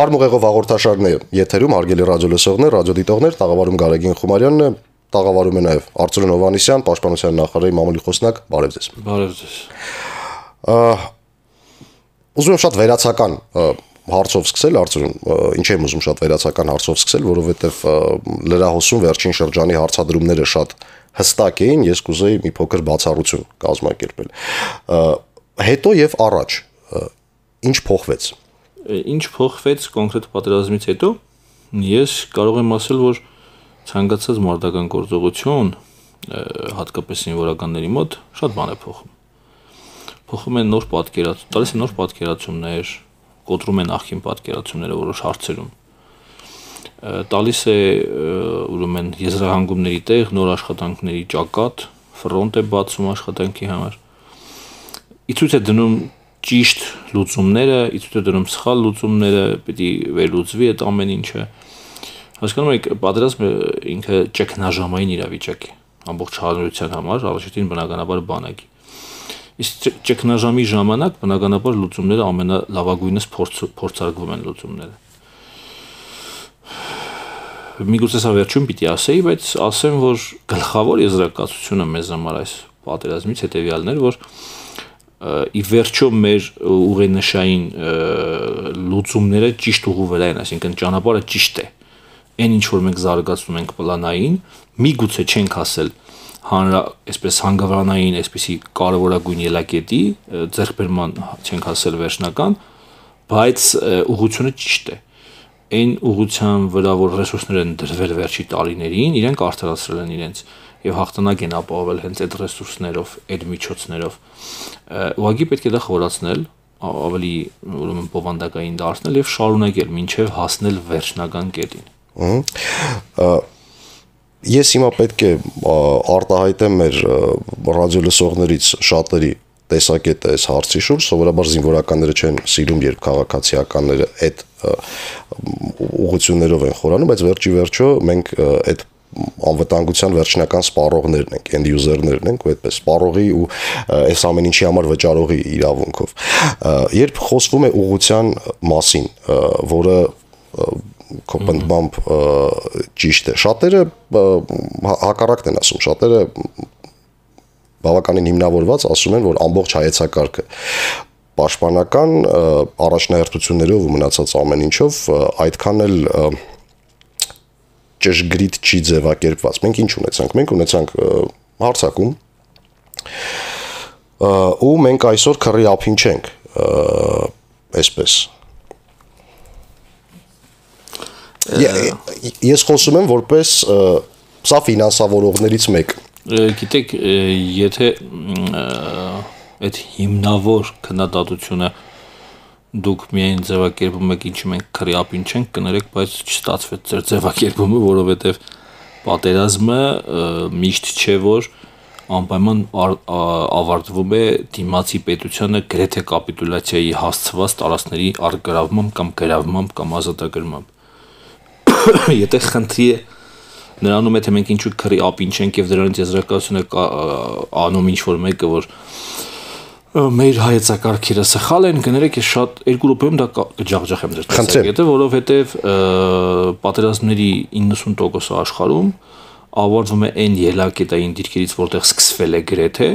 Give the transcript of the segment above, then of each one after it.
Թարմ ուղեղով հաղորդաշարն է եթերում, հարգելի ռադիոլսողներ, ռադիոդիտողներ, տաղավարում Գարեգին Խումարյանն է, տաղավարում է նաև Արծրուն Հովհաննիսյան, Պաշտպանության նախարարի մամուլի խոսնակ, բարև ձեզ։ Բարև ձեզ։ Ուզում եմ շատ վերացական հարցով սկսել, Արծրուն, ինչ եմ ուզում շատ վերացական հարցով սկսել, որովհետև լրահոսում վերջին շրջանի հարցադրումները շատ հստակ էին, ես կուզեի մի փոքր բացառություն կազմակերպել։ Հետո եւ առաջ ինչ փոխվեց։ Ինչ փոխվեց կոնկրետ պատերազմից հետո, ես կարող եմ ասել, որ ցանկացած մարտական գործողություն, հատկապես զինվորականների մոտ, շատ բան է փոխում։ Փոխում են նոր պատկերացում, տալիս են նոր պատկերացումներ, կոտրում են նախկին պատկերացումները որոշ հարցերում։ Տալիս է ուրեմն եզրահանգումների տեղ, նոր աշխատանքների ճակատ, ֆրոնտ է բացում աշխատանքի համար։ Իցույց է դնում ճիշտ լուծումները, իցույց է դնում սխալ լուծումները, պիտի վերլուծվի այդ ամեն ինչը։ Հասկանում եք, պատերազմը ինքը ճգնաժամային իրավիճակ է, ամբողջ հանրության համար, առաջին բնականաբար բանակի։ Իսկ ճգնաժամի ժամանակ բնականաբար լուծումները ամենալավագույնս փորձարկվում են լուծումները։ Միգուցե սա վերջում պիտի ասեի, բայց ասեմ, որ գլխավոր եզրակացությունը մեզ համար այս պատերազմից հետևյալն էր, որ ի վերջո մեր ուղենշային լուծումները ճիշտ ուղու վրա են, այսինքն ճանապարհը ճիշտ է։ Այն ինչ որ մենք զարգացնում ենք պլանային, միգուցե չենք ասել այսպես հանգավրանային, այսպեսի կարևորագույն ելակետի ձեռքբերման չենք ասել վերջնական, բայց ուղղությունը ճիշտ է։ Այն ուղղության վրա, որ ռեսուրսներ են դրվել վերջի տարիներին, իրենք արդարացրել են իրենց եւ հաղթանակ են ապահովել հենց այդ ռեսուրսներով, այդ միջոցներով։ Ուղղակի պետք է դա խորացնել, ավելի ուրեմն բովանդակային դարձնել եւ շարունակել մինչեւ հասնել վերջնական կետին։ Ես հիմա պետք է արտահայտեմ մեր ռադիոլսողներից շատերի տեսակետը այս հարցի շուրջ, սովորաբար զինվորականները չեն սիրում, երբ քաղաքացիականները այդ ուղղություններով են խորանում, բայց վերջո մենք այդ անվտանգության վերջնական սպառողներն ենք, end user-ներն ենք, ու այդպես սպառողի ու այս ամեն ինչի համար վճարողի իրավունքով։ Երբ խոսվում է ուղղության մասին, որը քո պնդմամբ ճիշտ է, շատերը հակառակն են ասում, շատերը բավականին հիմնավորված ասում են, որ ամբողջ հայեցակարգը պաշտպանական առաջնահերթություններով ու մնացած ամեն ինչով այդքան էլ ճշգրիտ չի ձևակերպված։ Մենք ինչ ունեցանք։ Մենք ունեցանք հարձակում, ու մենք այսօր քռի ափին չենք, այսպես։ Ես խոսում եմ որպես սա ֆինանսավորողներից մեկը։ Գիտեք, եթե այդ հիմնավոր քննադատությունը դուք միայն ձևակերպում եք, ինչի մենք քռի ափին չենք, կներեք, բայց չստացվեց ձեր ձևակերպումը, որովհետև պատերազմը միշտ չէ, որ անպայման ավարտվում է դիմացի պետությանը գրեթե կապիտուլյացիայի հասցված տարածքների առգրավմամբ կամ գրավմամբ կամ ազատագրմամբ։ Եթե խնդրի է նրանում է, թե մենք ինչու քռի ափին չենք եւ դրանից եզրակացությունը անում ինչ-որ մեկը, որ մեր հայեցակարգերը սխալ են, կներեք, ես շատ 2 րոպեում դա կջախջախեմ ձեր տեսակետը, որովհետև պատերազմների 90% աշխարհում ավարտվում է այն ելակետային դիրքերից, որտեղ սկսվել է գրեթե,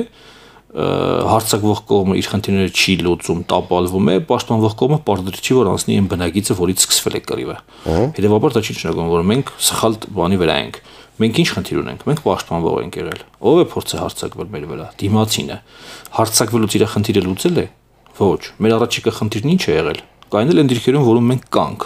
հարձակվող կողմը իր խնդիրները չի լուծում, տապալվում է, պաշտպանվող կողմը պարտադիր չի, որ անցնի այն բնագիծը, որից սկսվել է կռիվը։ Հետևաբար դա չի նշանակում, որ մենք սխալ բանի վրա ենք։ Մենք ինչ խնդիր ունենք։ Մենք պաշտպանվող ենք եղել։ Ո՞վ է փորձը հարձակվել մեր վրա։ Դիմացինը։ Հարձակվելուց իր խնդիրը լուծել է։ Ոչ։ Մեր առաջիկա խնդիրն ինչ է եղել։ Կայնել են դիրքերում, որում մենք կանք։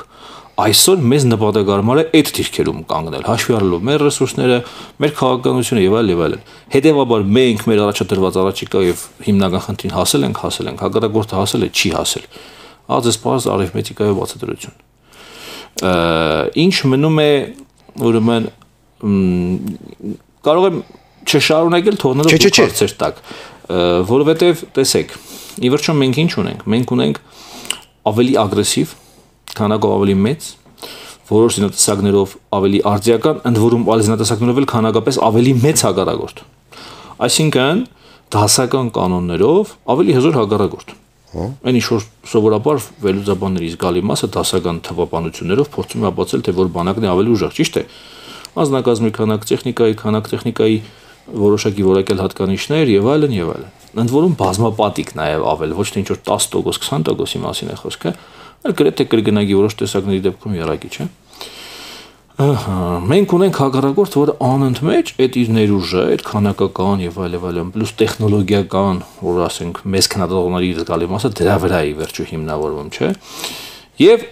Այսօր մեզ նպատակարար է այդ դիրքերում կանգնել, հաշվի առնելով մեր ռեսուրսները, մեր քաղաքականությունը եւ այլն։ Հետևաբար մենք մեր առաջադրված առաջիկա եւ հիմնական խնդրին հասել ենք, հակառակորդը հասել է, չի հասել։ Ահա սպառս արիթմետիկայով բացատրություն։ Ինչ մնում է, ուրեմն կարող եմ չշարունակել թողնելով հարցեր տակ, որովհետեւ տեսեք, ի վերջո մենք ինչ ունենք։ Մենք ունենք ավելի ագրեսիվ, քանակով ավելի մեծ, որոշ զինատեսակներով ավելի արձիական, ընդ որում այլ զինատեսակներով էլ քանակապես ավելի մեծ հակառակորդ։ Այսինքն դասական կանոններով ավելի հզոր հակառակորդ։ Այն ինչ որ սովորաբար վերլուծաբանների զգալի մասը դասական թվապանություններով փորձում է ապացուցել, թե որ բանակն է ավելի ուժեղ, ճիշտ է։ Անձնակազմի քանակ, տեխնիկայի որոշակի որակյալ հատկանիշներ եւ այլն եւ այլն։ Ընդ որում բազմապատիկ նաեւ ավել, ոչ թե ինչ որ 10%, 20%-ի մասին է խոսքը, այլ գրեթե կրկնակի որոշ տեսակների դեպքում երակի, չէ՞։ Մենք ունենք հակառակորդ, որը անընդմեջ այդ իր ներուժը, այդ քանակական եւ այլն, պլյուս տեխնոլոգիական, որ ասենք մեծ քննադատողների զգալի մասը դրա վրա է վերջո հիմնավորվում, չէ։ Եվ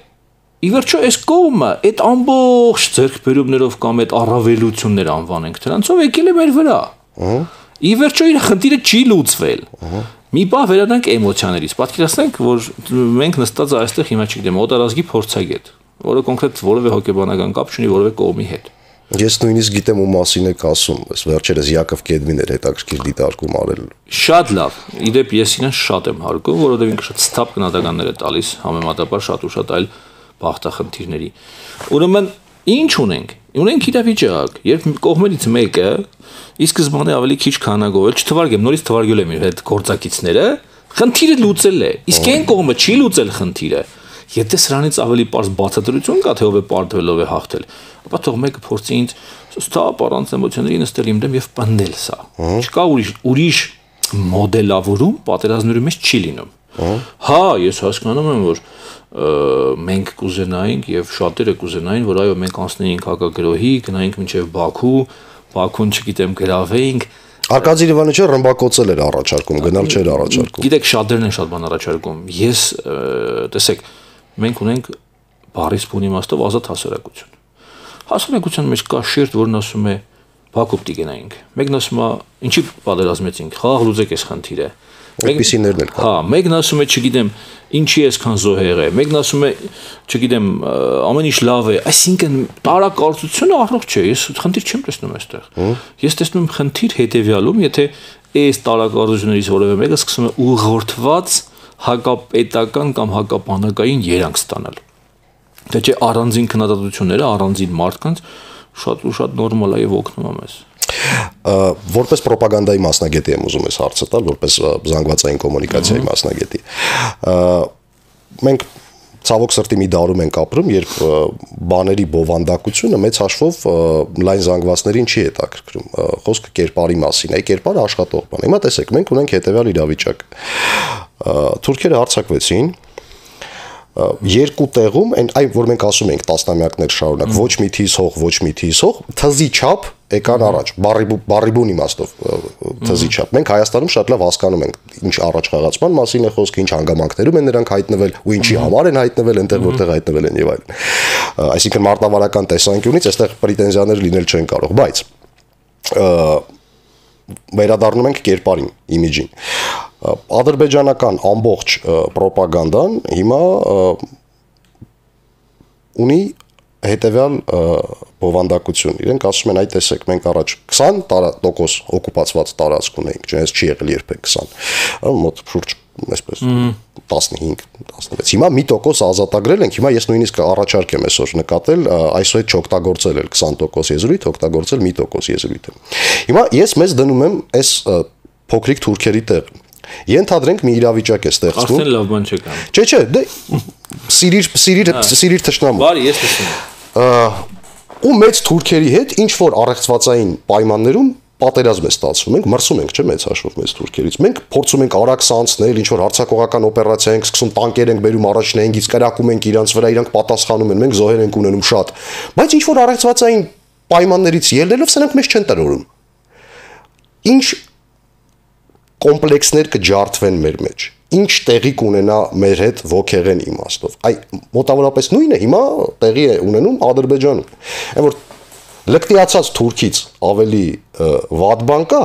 ի վերջո այս կողմը այդ ամբողջ ձեռքբերումներով կամ այդ առավելություններ անվանենք դրանցով եկել է մեր վրա։ Ի վերջո իր խնդիրը չի լուծվել։ Մի բան վերադառնանք էմոցիաներից։ Պատկերացնենք, որ մենք նստած այստեղ հիմա չգիտեմ, օտարազգի փորձագետ, որը կոնկրետ որևէ հոգեբանական կապ չունի որևէ կողմի հետ։ Ես նույնիսկ գիտեմ ում մասին եք ասում, այս վերջերս Յակով Կեդմին էր հետաքրքիր դիտարկում արել։ Շատ լավ։ Իդեպ ես իրեն շատ եմ հարգում, որովհետև ինքը շատ ստապ գնահատականներ է տալիս համեմատաբար շատ ու շատ այլ բախտախնդիրների։ Ուրեմն ինչ ունենք։ Ունենք իրավիճակ, երբ կողմերից մեկը ի սկզբանե ավելի քիչ քանակով էլ չթվարկեմ, նորից թվարկել եմ իր հետ գործակիցները, խնդիրը լուծել է։ Իսկ այն կողմը չի լուծել խնդիրը։ Եթե սրանից ավելի པարզ բացատրություն կա, թե ով է պարտվելով է հաղթել, ապա թող մեկը փորձի ինձ ստապ առանց էմոցիաների նստել իմ դեմ եւ պնդել սա։ Չկա ուրիշ մոդելավորում պատերազմների մեջ չի լինում։ Հա, ես հասկանում եմ, որ մենք կուզենայինք եւ շատերը կուզենային, որ այո, մենք անցնեինք հակագրոհի, գնայինք մինչեւ Բաքուն, չգիտեմ, գրավեինք։ Արկադի Լևանիչը ռմբակոծել էր առաջարկում, գնալ չէր առաջարկում։ Գիտեք, շատերն են շատ բան առաջարկում։ Ես տեսեք, մենք ունենք բառի սփուն իմաստով ազատ հասարակություն։ Հասարակության մեջ կա շերտ, որն ասում է Բաքու պիտի գնայինք։ Մեկն ասում է, ինչի պատերազմեցինք, խաղ լուծեք այս խնդիրը։ Այդպիսիներն էլ կան։ Հա, մեկն ասում է, չգիտեմ, ինչի այսքան զոհեր է, մեկն ասում է, չգիտեմ, ամեն ինչ լավ է, այսինքն տարակարծությունը առողջ չէ, ես խնդիր չեմ տեսնում այստեղ։ Ես տեսնում եմ խնդիր հետեւյալում, եթե այս տարակարծություններից որևէ մեկը սկսում է ուղղորդված հակապետական կամ հակապանակային երանգ ստանալ։ Թե չէ առանձին քննադատությունները, առանձին մարդկանց շատ ու շատ նորմալ է եւ օգնում է մեզ։ Որպես ռոպագանդայի մասնագետի եմ ուզում ես հարցը տալ, որպես զանգվածային կոմունիկացիայի մասնագետի։ Մենք ցավոք սրտի մի դարում ենք ապրում, երբ բաների բովանդակությունը մեծ հաշվով լայն զանգվածներին չի հետաքրքրում։ Խոսքը կերպարի մասին է, կերպարը աշխատող բան։ Հիմա տեսեք, մենք ունենք հետևյալ իրավիճակ։ Թուրքերը հարձակվեցին երկու տեղում, այն որ մենք ասում ենք տասնամյակներ շարունակ, ոչ մի թիզ հող, ոչ մի թիզ հող, թզի չափ եկան առաջ, բարի բուն իմաստով թզի չափ։ Մենք Հայաստանում շատ լավ հասկանում ենք, ինչ առաջխաղացման մասին է խոսքը, ինչ հանգամանքներում են նրանք հայտնվել ու ինչի համար են հայտնվել, այնտեղ որտեղ հայտնվել են եւ այլն։ Այսինքն մարտավարական տեսանկյունից այստեղ պրետենզիաներ լինել չեն կարող, բայց վերադառնում ենք կերպարին, իմիջին։ Ադրբեջանական ամբողջ ռոպագանդան հիմա ունի հետևյալ բովանդակություն։ Իրենք ասում են, այ տեսեք, մենք առաջ 20% օկուպացված տարածք ունեինք, չնայած չի եղել երբեք 20, մոտ շուրջ այսպես 15-16։ Հիմա մի տոկոս ազատագրել ենք, հիմա ես նույնիսկ առաջարկ եմ այսօր նկատել, այսօր չօգտագործել էլ 20% եզրույթ, օգտագործել մի տոկոս եզրույթը։ Հիմա ես մեզ դնում եմ այս փոքրիկ թուրքերի տեղ։ Ենթադրենք մի իրավիճակ է ստեղծվում։ Արդեն լավ բան չկա։ Չէ, դե սիրիր թշնամու։ Բարի, ես տեսնում։ Ու մեծ թուրքերի հետ ինչ որ առեղծվածային պայմաններում պատերազմ է ստացվում, մենք մրսում ենք, չէ՞, մեծ հաշվով մեծ թուրքերից։ Մենք փորձում ենք արագ սանցնել, ինչ որ հարձակողական օպերացիա ենք սկսում, տանկեր ենք բերում առաջնայինից, կրակում ենք իրանց վրա, իրանք պատասխանում են, մենք զոհեր ենք ունենում շատ։ Բայց ինչ որ առեղծվածային պայմաններից ելնելով սրանք մեզ չեն տրորում։ Ինչ կոմպլեքսներ կջարդվեն մեր մեջ, ինչ տեղի կունենա մեր հետ ոգեղեն իմաստով։ Այ մոտավորապես նույնը հիմա տեղի է ունենում Ադրբեջանում։ Այն որ լկտիացած թուրքից ավելի վատ բան կա,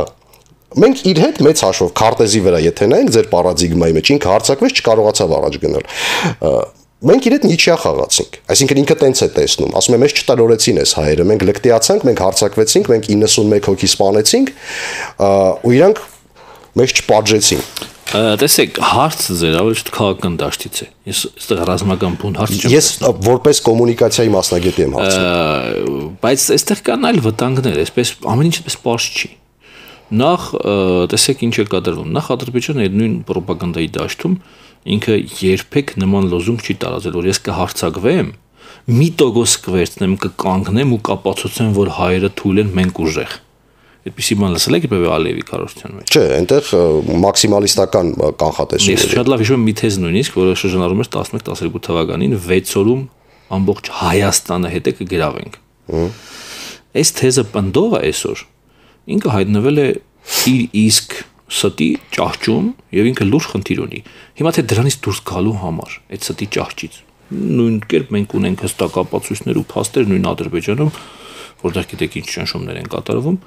մենք իր հետ մեծ հաշվով քարտեզի վրա եթե նայենք ձեր պարադիգմայի մեջ, ինքը հարձակվեց, չկարողացավ առաջ գնալ։ Մենք իր հետ նիչյա խաղացինք, այսինքն ինքը տենց է տեսնում, ասում է մեզ չտարորեցին այս հայերը, մենք լկտիացանք, մենք հարձակվեցինք, մենք 91 հոգի սպանեցինք, ու իրանք մեզ չպատժեցին։ Տեսեք, հարցը ձեր ավելի շատ քաղաքական դաշտից է։ Ես այստեղ ռազմական բուն հարց չեմ։ Ես որպես կոմունիկացիայի մասնագետ եմ հարցնում։ Բայց այստեղ կան այլ վտանգներ, այսպես ամեն ինչ այսպես պարզ չի։ Նախ տեսեք ինչ է կատարվում։ Նախ Ադրբեջանը այդ նույն ռոպագանդայի դաշտում ինքը երբեք նման լոզունգ չի տարածել, որ ես կհարցակվեմ, մի տոկոս կվերցնեմ, կկանգնեմ ու կապացուցեմ, որ հայերը թույլ են, մենք ուժեղ։ Այդպիսի բան լսել եք երբևէ Ալիևի քարոզության մեջ։ Չէ, այնտեղ մաքսիմալիստական կանխատեսում Ես շատ լավ հիշում եմ մի թեզ նույնիսկ, որը շրջանառում էր 11-12 թվականին 6 օրում ամբողջ Հայաստանը հետ է կգրավենք։ Այս թեզը պնդողը այսօր ինքը հայտնվել է իր իսկ ստի ճահճում եւ ինքը լուրջ խնդիր ունի։ Հիմա թե դրանից դուրս գալու համար այդ ստի ճահճից նույն կերպ մենք ունենք հստակ ապացույցներ ու փաստեր նույն Ադրբեջանում, որտեղ գիտեք ինչ ճնշումներ են կատարվում,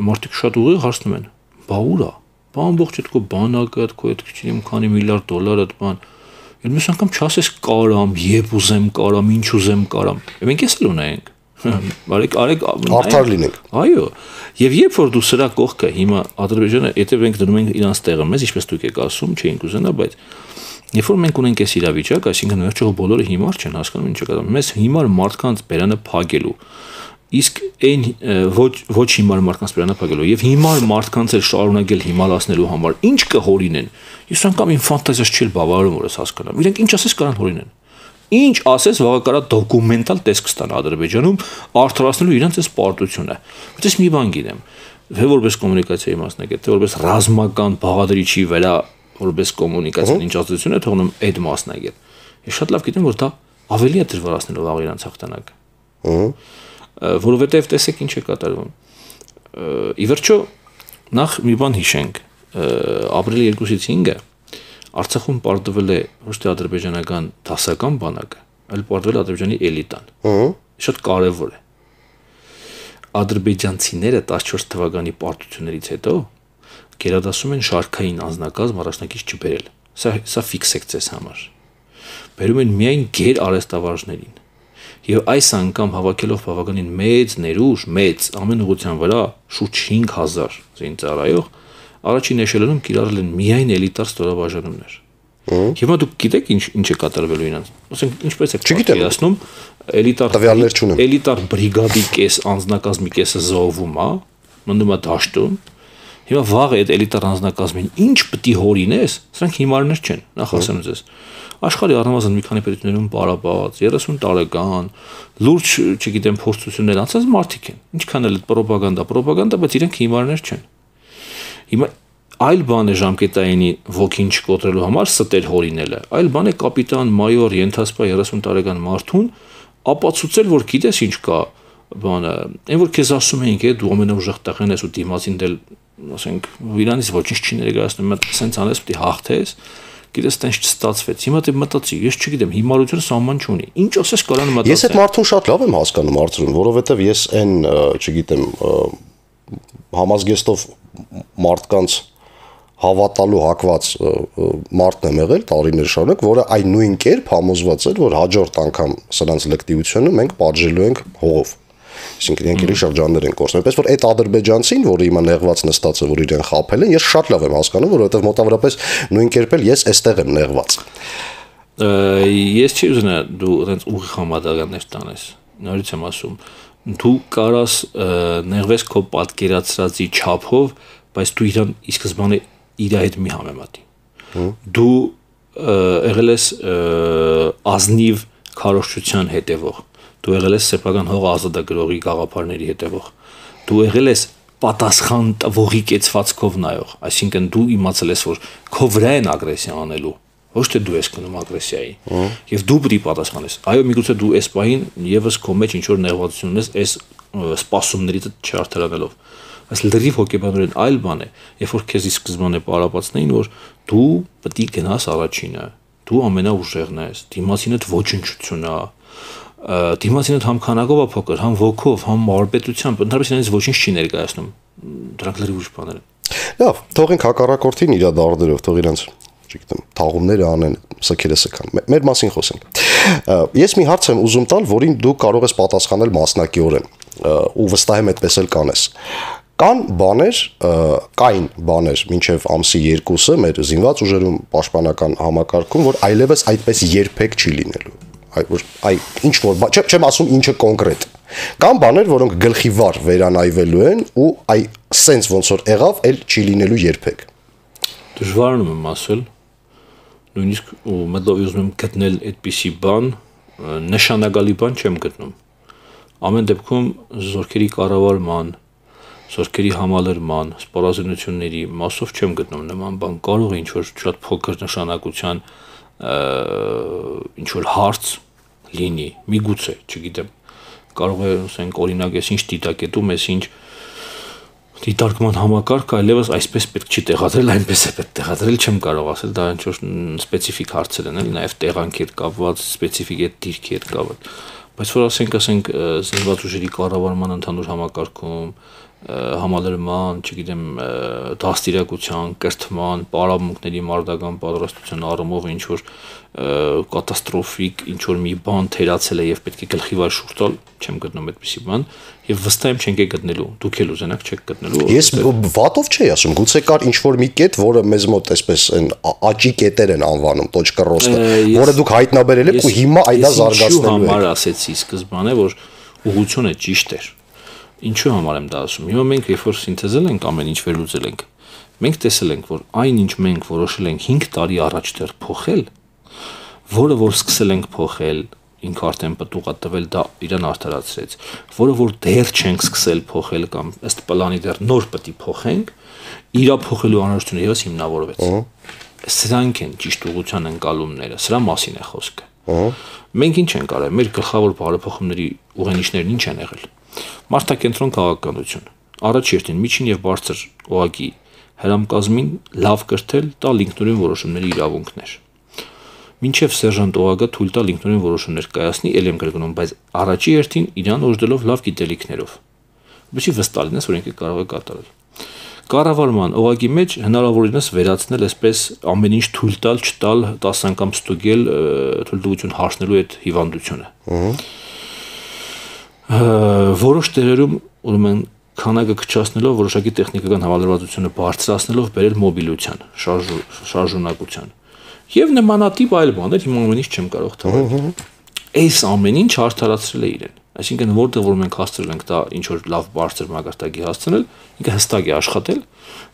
մարդիկ շատ ուղիղ հարցնում են. «Բա ուր է։ Բա ամբողջ այդ քո բանակը, քո այդ քիչին քանի միլիարդ դոլար այդ բան»։ Եվ մյուս անգամ չասես կարամ, երբ ուզեմ կարամ, ինչ ուզեմ կարամ։ Մենք էս էլ ունենք։ Արեք արդար լինենք։ Այո, եւ երբ որ դու սրա կողքը հիմա Ադրբեջանը, եթե մենք դնում ենք իրանց տեղը մեզ, ինչպես դուք եք ասում, չէինք ուզենա, բայց երբ որ մենք ունենք այս իրավիճակ, այսինքն վերջով բոլորը հիմար չեն հասկանում ինչ է կատարվում, մեզ հիմար մարդկանց բերանը փակելու, իսկ այն ոչ հիմար մարդկանց բերանը փակելու եւ հիմար մարդկանց էլ շարունակել հիմալացնելու համար ինչ կհորինեն։ Ես անգամ իմ ֆանտազիաս չի բավարարում, որ ես հասկանամ։ Իրենք ինչ ասես կարան հորինեն։ Ինչ ասես վաղակարա դոկումենտալ տեսք ստան Ադրբեջանում արդարացնելու իրենց այս պարտությունը։ Բայց ես մի բան գիտեմ, թե որպես կոմունիկացիայի մասնակից, թե որպես ռազմական բաղադրիչի վրա որպես կոմունիկացիան ինչ ազդեցություն է թողնում այդ մասնակից։ Ես շատ լավ գիտեմ, որ դա ավելի է դժվարացնելու վաղ իրանց հաղթանակը։ Որովհետև տեսեք ինչ է կատարվում։ Ի վերջո նախ մի բան հիշենք, ապրիլի 2-ից 5-ը Արցախում պարտվել է ոչ թե ադրբեջանական դասական բանակը, այլ պարտվել է Ադրբեջանի էլիտան։ Շատ կարևոր է։ Ադրբեջանցիները 14 թվականի պարտություններից հետո գերադասում են շարքային անձնակազմ առաջնակից չբերել։ Սա ֆիքսեք ձեզ համար։ Բերում են միայն գեր արհեստավարժներին։ Եվ այս անգամ հավաքելով բավականին մեծ ներուժ, մեծ ամեն ուղղության վրա շուրջ 5000 զինծառայող առաջին էշելոնում կիրառել են միայն էլիտար ստորաբաժանումներ։ Հիմա դուք գիտեք ինչ է կատարվելու իրենց։ Ասենք ինչպես է պատկերացնում էլիտար բրիգադի կես անձնակազմի կեսը զոհվում է, մնում է դաշտում։ Հիմա վաղ այդ էլիտար անձնակազմին ինչ պիտի հորինես, սրանք հիմարներ չեն, նախ ասեմ ձեզ։ Աշխարհի առնվազն մի քանի պետություններում պարապած 30 տարեկան լուրջ, չգիտեմ, փորձություններ անցած մարդիկ են։ Ինչքան էլ պրոպագանդա, բայց իրենք հիմարներ չեն։ Հիմա այլ բան է ժամկետայինի ոգին չկոտրելու համար ստեր հորինելը, այլ բան է կապիտան, մայոր, ենթասպա 30 տարեկան մարդուն ապացուցել, որ գիտես ինչ կա բանը, այն որ քեզ ասում էինք, դու ամենաուժեղ տեղն ես ու դիմացին դել, ասենք, իրանից ոչինչ չի ներկայացնում, սենց անես պիտի հաղթես, գիտես տենց չստացվեց։ Հիմա դե մտածի, ես չգիտեմ, հիմարությունը սահման չունի։ Ինչ ասես կարան մտածել։ Ես այդ մարդուն շատ լավ եմ հասկանում Արծրուն, որովհետև ես այն, չգիտեմ, համազգեստով մարդկանց հավատալու հակված մարդն եմ եղել տարիներ շարունակ, որը այն նույն կերպ համոզված էր, որ հաջորդ անգամ սրանց լկտիությունը մենք պատժելու ենք հողով։ Այսինքն իրենք իրի շրջաններ են կորցնում։ Այնպես որ այդ ադրբեջանցին, որը հիմա նեղված նստած է, որ իրեն խաբել են, ես շատ լավ եմ հասկանում, որովհետև մոտավորապես նույն կերպ էլ ես այստեղ եմ նեղված։ Ես չի ուզենա դու այնց ուղիղ համադրաններ տանես։ Նորից եմ ասում, դու կարաս նեղվես քո պատկերացրածի չափով, բայց դու իրան ի սկզբանե իր հետ մի համեմատի։ Դու եղել ես ազնիվ քարոզչության հետևող, դու եղել ես սեփական հող ազատագրողի գաղափարների հետևող, դու եղել ես պատասխան տվողի կեցվածքով նայող, այսինքն դու իմացել ես, որ քո վրա են ագրեսիա անելու, ոչ թե դու ես գնում ագրեսիայի, եւ դու պետք է պատասխանես։ Այո, միգուցե դու այս պահին եւս քո մեջ ինչ որ նեղվածություն ունես այս սպասումներից չարթարանելով։ Այս լրիվ հոգեբանորեն այլ բան է, երբ որ քեզ ի սկզբանե պարապացնեին, որ դու պետք է գնաս առաջինը, դու ամենաուժեղն ես, դիմացինդ ոչնչություն է, դիմացինդ համ քանակով է փոքր, համ ոգով, համ մարպետությամբ, ընդհանրապես իրենից ոչինչ չի ներկայացնում։ Դրանք լրիվ ուրիշ բաներ են։ Լավ, թողենք հակառակորդին իր դարդերով, թող իրանց, չգիտեմ, թաղումները անեն, սքերը սքան։ Մեր մասին խոսենք։ Ես մի հարց եմ ուզում տալ, որին դու կարող ես պատասխանել մասնակիորեն, ու վստահ եմ այդպես էլ կանես։ Կային բաներ մինչև ամսի 2-ը մեր զինված ուժերում պաշտպանական համակարգում, որ այլևս այդպես երբեք չի լինելու։ Ինչ որ, չեմ ասում ինչը կոնկրետ։ Կան բաներ, որոնք գլխիվար վերանայվելու են ու սենց ոնց որ եղավ, էլ չի լինելու երբեք։ Դժվարանում եմ ասել, նույնիսկ ու մտով ուզում եմ գտնել այդպիսի բան, նշանակալի բան չեմ գտնում։ Ամեն դեպքում զորքերի կառավարման, զորքերի համալրման, սպառազինությունների մասով չեմ գտնում նման բան։ Կարող է ինչ-որ շատ փոքր նշանակության ինչ-որ հարց լինի, միգուցե, չգիտեմ։ Կարող է, ասենք, օրինակ, ես ինչ դիտակետում ես, ինչ դիտարկման համակարգ այլևս այսպես պետք չի տեղադրել, այնպես է պետք տեղադրել, չեմ կարող ասել, դա ինչ-որ սպეციფიկ հարցեր են, էլի, նաև տեղանքի հետ կապված, սպეციფიկ այդ դիրքի հետ կապված։ Բայց որ ասենք զինված ուժերի կառավարման ընդհանուր համակարգում, համալրման, չգիտեմ, դաստիարակության, կրթման, պարապմունքների մարդական պատրաստության առումով ինչ որ կատաստրոֆիկ ինչ որ մի բան թերացել է եւ պետք է գլխի վար շուրջ տալ, չեմ գտնում այդպիսի բան եւ վստահ եմ չենք գտնելու։ Դուք էլ ուզենաք չեք գտնելու։ Ես վատով չի ասում, գուցե կար ինչ որ մի կետ, որը մեզ մոտ այսպես են աճի կետեր են անվանում, տոչկռոստը, որը դուք հայտնաբերել եք ու հիմա այդա զարգացնելու եք։ Համար ասեցի սկզբանե, որ ուղղությունը ճիշտ էր։ Ինչու համար եմ դա ասում։ Հիմա մենք երբ որ սինթեզել ենք ամեն ինչ վերլուծել ենք, մենք տեսել ենք, որ այն ինչ մենք որոշել ենք 5 տարի առաջ դեռ փոխել, որը որ սկսել ենք փոխել, ինքը արդեն պտուղ է տվել, դա իրան արդարացրեց, որը որ դեռ չենք սկսել փոխել կամ ըստ պլանի դեռ նոր պետք է փոխենք, իրա փոխելու անհրաժեշտությունը եւս հիմնավորվեց։ Սրանք են ճիշտ ուղղության ընկալումները, սրա մասին է խոսքը։ Մենք ինչ ենք արել, մեր գլխավոր բարեփոխումների ուղենիշներն ինչ են եղել։ Մարդակենտրոն քաղաքականություն, առաջերտին միջին եւ բարձր օղակի հրամկազմին լավ կրթել, տալ ինքնուրույն որոշումների իրավունքներ։ Մինչև սերժանտ օղակը թույլ տալ ինքնուրույն որոշումներ կայացնի, ել եմ կրկնում, բայց առաջի հերթին իրան օժտելով լավ գիտելիքներով։ Ինչի վստահ լինես, որ ինքը կարող է կատարել։ Կառավարման օղակի մեջ հնարավորինս վերացնել այսպես ամեն ինչ թույլ տալ, չտալ, 10 անգամ ստուգել, թույլտվություն հարցնելու այդ հիվանդությունը։ Որոշ տեղերում ուրեմն քանակը քչացնելով, որոշակի տեխնիկական համալրվածությունը բարձրացնելով բերել մոբիլության, շարժունակության։ Եվ նմանատիպ այլ բաներ հիմա ամեն ինչ չեմ կարող թվալ։ Այս ամեն ինչ արդարացրել է իրեն։ Այսինքն որտեղ որ մենք հասցրել ենք դա ինչ որ լավ բարձր մակարդակի հասցնել, ինքը հստակ է աշխատել,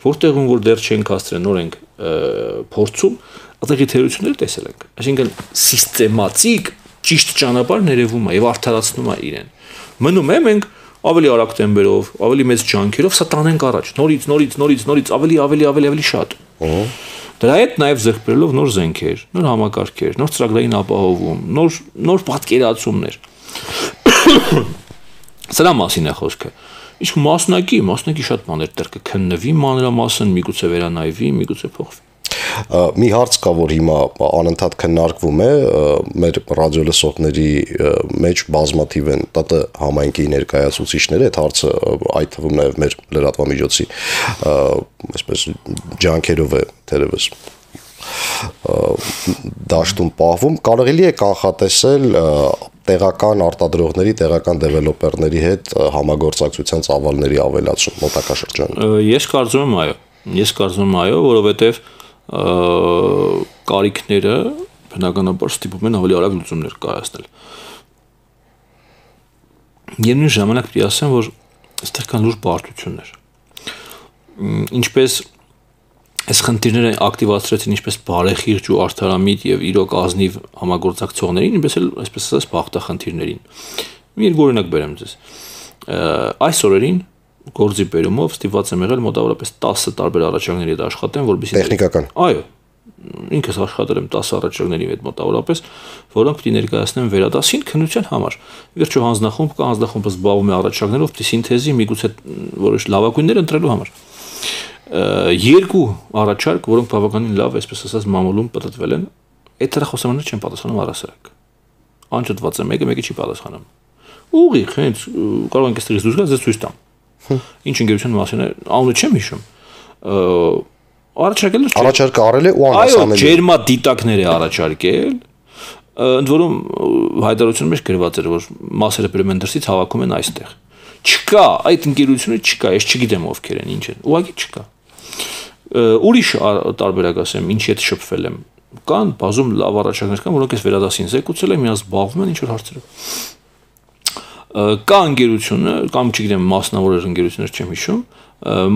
որտեղում որ դեռ չենք հասցրել, նոր ենք փորձում, այդտեղի թերությունները տեսել ենք։ Այսինքն սիստեմատիկ ճիշտ ճանապարհ ներևում է եւ արդարացնում է իրեն։ Մնում է մենք ավելի արագ տեմպերով, ավելի մեծ ջանքերով սա տանենք առաջ, նորից, ավելի շատ։ Դրա հետ նաև ձեռք բերելով նոր զենքեր, նոր համակարգեր, նոր ծրագրային ապահովում, նոր պատկերացումներ։ Սրա մասին է խոսքը։ Իսկ մասնակի շատ բաներ դեռ կքննվի մանրամասն, միգուցե վերանայվի, միգուցե փոխվի։ Մի հարց կա, որ հիմա անընդհատ քննարկվում է, մեր ռադիոլսողների մեջ բազմաթիվ են ՏՏ համայնքի ներկայացուցիչները, այդ հարցը այդ թվում նաև մեր լրատվամիջոցի այսպես ջանքերով է թերևս դաշտում պահվում, կարելի է կանխատեսել տեղական արտադրողների, տեղական դեվելոպերների հետ համագործակցության ծավալների ավելացում մոտակա շրջանում։ Ես կարծում եմ այո, որովհետև կարիքները բնականաբար ստիպում են ավելի արագ լուծումներ կայացնել։ Միևնույն ժամանակ պետք է ասեմ, որ այստեղ կան լուրջ բարդություններ։ Ինչպես այս խնդիրները ակտիվացրեցին ինչպես բարեխիղճ ու արդարամիտ եւ իրոք ազնիվ համագործակցողներին, ինչպես էլ այսպես ասած բախտախնդիրներին։ Մի երկու օրինակ բերեմ ձեզ։ Այս օրերին գործի բերումով ստիպված եմ եղել մոտավորապես 10 տարբեր առաջարկների հետ աշխատեմ, որովհետեւ տեխնիկական։ Այո, ինքս աշխատել եմ 10 առաջարկների հետ մոտավորապես, որոնք պետք է ներկայացնեմ վերադասին քննության համար։ Վերջո հանձնախումբ կա, հանձնախումբը զբաղվում է առաջարկներով, պետք է սինթեզի միգուցե որոշ լավագույններ ընտրելու համար։ Երկու առաջարկ, որոնք բավականին լավ, այսպես ասած, մամուլում պատտվել են, այդ հեռախոսամարները չեն պատասխանում առասարակ։ Անջատված է մեկը չի պատասխանում։ Ուղիղ, հենց կարող ենք այստեղից դուրս գալ, ձեզ ցույց տամ։ Ինչ ընկերության մասին է, անունը չեմ հիշում։ Առաջարկը արել է ու անհասանելի։ Այո, ջերմադիտակներ է առաջարկել, ընդ որում հայտարարության մեջ գրված էր, որ մասերը բերում են դրսից, հավաքում են այստեղ։ Չկա, այդ ընկերությունը չկա, ես չգիտեմ ովքեր են, ինչ են, ուղղակի չկա։ Ուրիշ տարբերակ ասեմ, ինչի հետ շփվել եմ։ Կան բազում լավ առաջարկներ կան, որոնք ես վերադասին զեկուցել եմ, իրաց զբաղվում են ինչ որ հարցերով։ կա ընկերությունը, կամ չգիտեմ, մասնավոր ընկերություններ չեմ հիշում,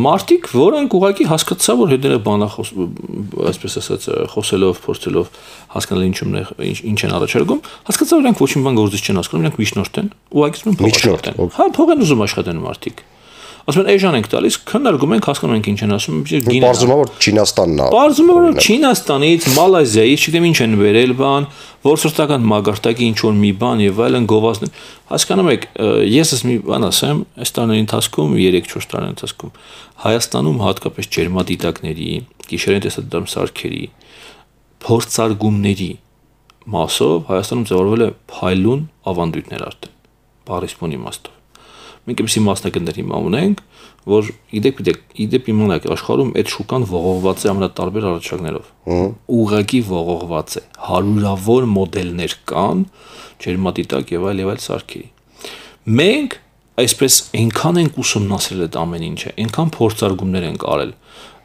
մարդիկ, որոնք ուղղակի հասկացա, որ հետները բանախոս, այսպես ասած, խոսելով, փորձելով հասկանալ ինչ են առաջարկում, հասկացա, որ իրենք ոչինչ բան գործից չեն հասկանում, իրենք միջնորդ են, ուղղակի ուզում փող աշխատեն։ Հա, փող են ուզում աշխատեն մարդիկ։ Ասում են, էժան ենք տալիս, քննարկում ենք, հասկանում ենք ինչ են ասում, գինը։ Պարզվում է, որ Չինաստանն է։ Պարզվում է, որ Չինաստանից, Մալազիայից, չգիտեմ ինչ են վերել բան, որսորդական մագարտակի ինչ որ մի բան եւ այլն գովազդն։ Հասկանում եք, ես մի բան ասեմ, այս տարիների ընթացքում, 3-4 տարիների ընթացքում Հայաստանում հատկապես ջերմադիտակների, գիշերային տեսադրամ սարքերի, փորձարկումների մասով Հայաստանում ձևավորվել է փայլուն ավանդույթներ արդեն, բառիսպուն իմաստով։ Մենք էսի մասնագետներ հիմա ունենք, որ իդեպ իմանաք աշխարհում այդ շուկան ողողված է ամենատարբեր առաջարկներով։ Ուղղակի ողողված է։ Հարյուրավոր մոդելներ կան, ջերմադիտակ եւ այլ սարքերի։ Մենք այսպես այնքան ենք ուսումնասիրել այդ ամեն ինչը, այնքան փորձարկումներ ենք արել։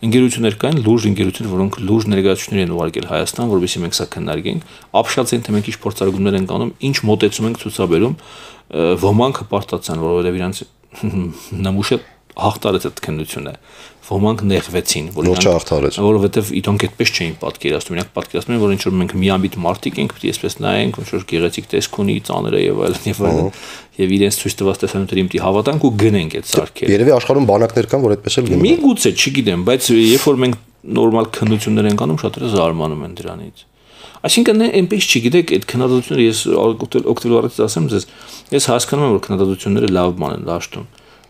Ընկերություններ կային, լուրջ ընկերություններ, որոնք լուրջ ներկայացուցիչներ են ուղարկել Հայաստան, որովհետեւ մենք սա քննարկենք, ապշած են թե մենք ինչ փորձարկումներ ենք անում, ինչ մոտեցում ենք ցուցաբերում, ոմանք հպարտացան, որովհետեւ իրանց նմուշը հաղթարեց այդ քննությունը, ոմանք նեղվեցին, որովհետեւ իրանք այդպես չէին պատկերացնում, իրանք պատկերացնում են, որ ինչ որ մենք միամիտ մարդիկ ենք, պետք է այսպես նայենք, ինչ որ գեղեցիկ տեսք ունի, ծանր է եւ այլն, եւ իրենց ցույց տված տեսանյութերին պետք է հավատանք ու գնենք այդ սարքերը։ Երևի աշխարհում բանակներ կան, որ այդպես էլ գնում են։ Միգուցե, չգիտեմ, բայց երբ որ մենք նորմալ քննություններ ենք անում, շատերը զարմանում են դրանից։ Այսինքն այնպես չգիտեք, այդ քննադատությունները ես օգտվել առից ասեմ ձեզ, ես հասկանում եմ, որ քննադատությունները լավ բան են դաշտում,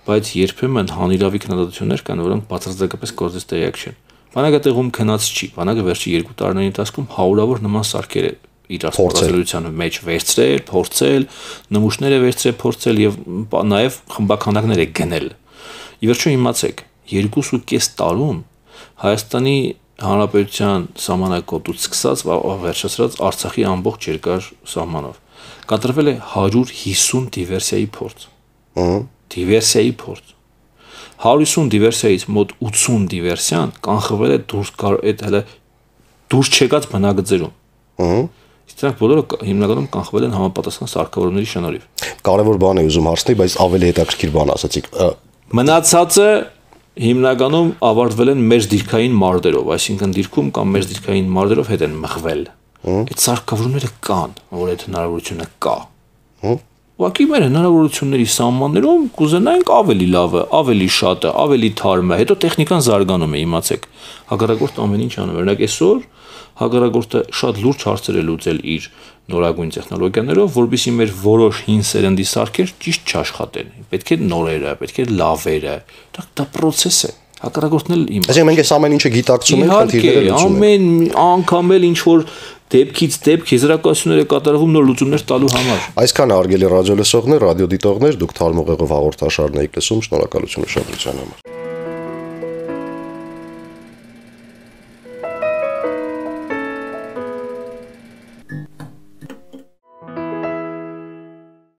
բայց երբեմն հանիրավի քննադատություններ կան, որոնք բացարձակապես գործից տեղյակ չեն։ Բանակը տեղում քնած չի, բանակը վերջի 2 տարիների ընթացքում հարյուրավոր նման սարքեր է իր ասպարեզության մեջ վերցրել, փորձել, նմուշներ է վերցրել, փորձել եւ նաեւ խմբականակներ է գնել։ Ի վերջո իմացեք, 2.5 տարում Հայաստանի Հանրապետության սահմանակոծից սկսած վերջացրած Արցախի ամբողջ երկար սահմանով կատարվել է 150 դիվերսիայի փորձ։ Դիվերսիայի փորձ։ 150 դիվերսիայից մոտ 80 դիվերսիան կանխվել է դուրս չեկած բնագծերում։ Դրանք բոլորը հիմնականում կանխվել են համապատասխան սարքավորումների շնորհիվ։ Կարևոր բան է ուզում հարցնել, բայց ավելի հետաքրքիր բան ասացիք։ Մնացածը հիմնականում ավարտվել են մեր դիրքային մարդերով, այսինքն դիրքում կամ մեր դիրքային մարդերով հետ են մղվել։ Այդ սարքավորումները կան, որ այդ հնարավորությունը կա։ Ուղղակի մեր հնարավորությունների սահմաններում կուզենայինք ավելի լավը, ավելի շատը, ավելի թարմը, հետո տեխնիկան զարգանում է, իմացեք։ Հակառակորդ ամեն ինչ անում։ Օրինակ այսօր հակառակորդը շատ լուրջ հարցեր է լուծել իր նորագույն տեխնոլոգիաներով, որովհետեւ մեր որոշ հին սերնդի սարքեր ճիշտ չաշխատեն։ Պետք է նորերը, պետք է լավերը։ Դա process է։ Հակառակորդն էլ իմացել։ Այսինքն մենք այս ամեն ինչը գիտակցում ենք, խնդիրները լուծում ենք։ Ամեն անգամ էլ ինչ որ դեպքից դեպք եզրակացություններ է կատարվում նոր լուծումներ տալու համար։ Այսքան հարգելի ռադիո լսողներ, ռադիո դիտողներ, դուք թարմուղեղով հաղորդաշարն եք լսում, շնորհակալություն ուշադրության համար։